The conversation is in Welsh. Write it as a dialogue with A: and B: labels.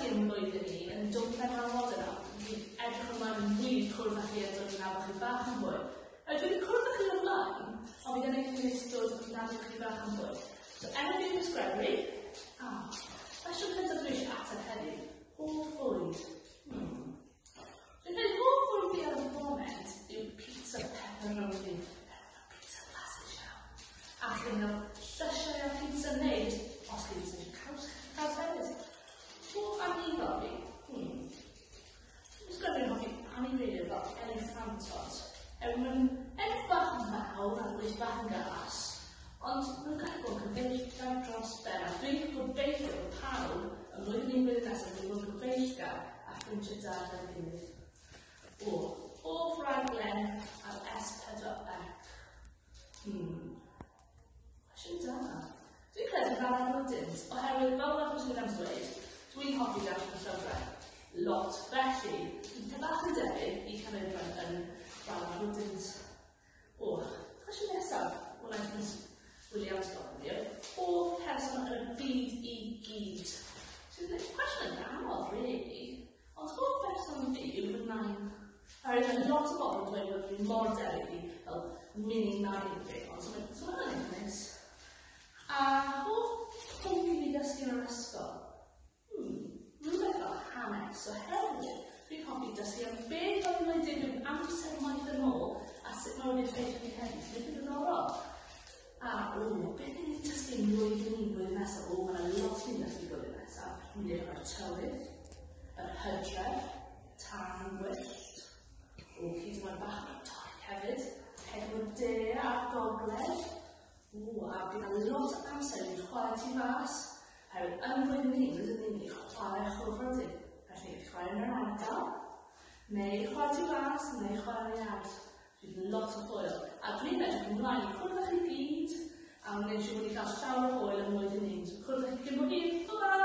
A: dysgu ym mlwyddyn un yn dod mewn awod yna. Fi'n edrych ymlaen yn wir cwrdd â chi a dod yn nabod chi bach yn fwy. A dwi wedi cwrdd â chi o'r blaen, ond fi ddim yn eich dod yn nabod chi bach yn fwy. So, enw fi yw Miss Gregory. Ah, cwestiwn cyntaf dwi eisiau ateb heddiw. Hoff fwyd? Dwi'n credu hoff fwyd fi ar y foment yw pizza pepperoni. Pizza blasus iawn. A chi'n cael llysiau a pizza neu jyst os chi jyst eisiau caws, caws hefyd. Hoff anifal fi? Dwi'n credu hoffi anifeiliaid fel eliffantod. Er maen nhw'n edrych bach yn fawr a weithio bach yn gas, ond maen nhw'n gallu bod yn gyfeillgar dros ben. A dwi'n gobeithio bod pawb yn blwyddyn un blwyddyn nesaf wedi bod yn gyfeillgar a ffrindiau da gyda'i gilydd. O, hoff raglen ar S4C. Cwestiwn da. Dwi'n credu fel Rodins, oherwydd fel wnaeth Miss Williams dweud, dwi'n hoffi darllen llyfrau. Lot. Felly, dwi'n bach yn debyg i Canolfan yn Rala Rodins. O, cwestiwn nesaf, wnaeth Miss Williams gofyn fi, oedd hoff person yn y byd i gyd. Sy'n cwestiwn yn anodd, really. Ond hoff person fi yw fy nain. Oherwydd mae lot o bobl yn dweud bod fi mor debyg i fel mini nain fi, ond so mae'n so hwnna'n eitha neis. A hoff pwnc i fi ddysgu yn yr ysgol? Rhywbeth fel hanes, oherwydd dwi'n hoffi dysgu am beth oedd yn digwydd amser maith yn ôl a sut mae wedi effeithio ni heddiw, sy'n eitha diddorol. A, o, beth ni'n dysgu yn blwyddyn un blwyddyn nesaf? O, mae yna lot ni'n dysgu blwyddyn nesaf. Ni'n edrych ar y tywydd, yr hydref, tân gwyllt, o, hyd yn oed bach o'r Nadolig hefyd, pedwar de a'r gogledd. O, a bydd yna lot o amser i ni chwarae tu fas. Oherwydd yn flwyddyn un, rydyn ni'n mynd i chwarae chwilfrydig. Felly, chwarae yn yr ardal, neu chwarae tu fas, neu chwarae yn y iard. Bydd lot o hwyl. A dwi'n edrych ymlaen i cwrdd â chi gyd, a wneud siŵr bod ni'n cael llawer o hwyl yn mlwyddyn un. So cwrdd â chi cyn bo hir. Bye-bye!